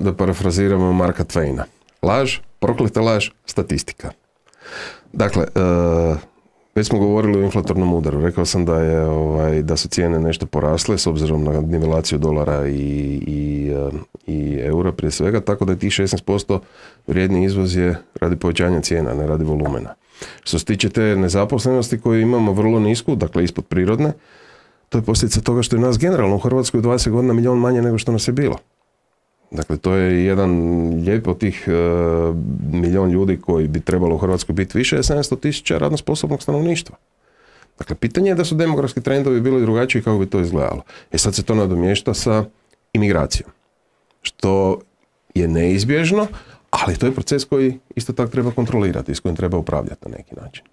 da parafraziramo Marka Twaina. Laž, prokleta laž, statistika. Dakle, već smo govorili o inflatornom udaru. Rekao sam da su cijene nešto porasle s obzirom na nivelaciju dolara i eura prije svega, tako da je tih 16% vrijedni izvoz je radi povećanja cijena, ne radi volumena. Što se tiče te nezaposlenosti koju imamo vrlo nisku, dakle ispod prirodne, to je posljedica toga što je nas generalno u Hrvatskoj 20 godina milion manje nego što nas je bilo. Dakle, to je jedan lijep od tih milion ljudi koji bi trebalo u Hrvatskoj biti više, je 700.000 radno sposobnog stanovništva. Dakle, pitanje je da su demografski trendovi bili drugačiji kako bi to izgledalo. Sad se to nadomješta sa imigracijom. Što je neizbježno, ali to je proces koji isto tako treba kontrolirati i s kojim treba upravljati na neki način.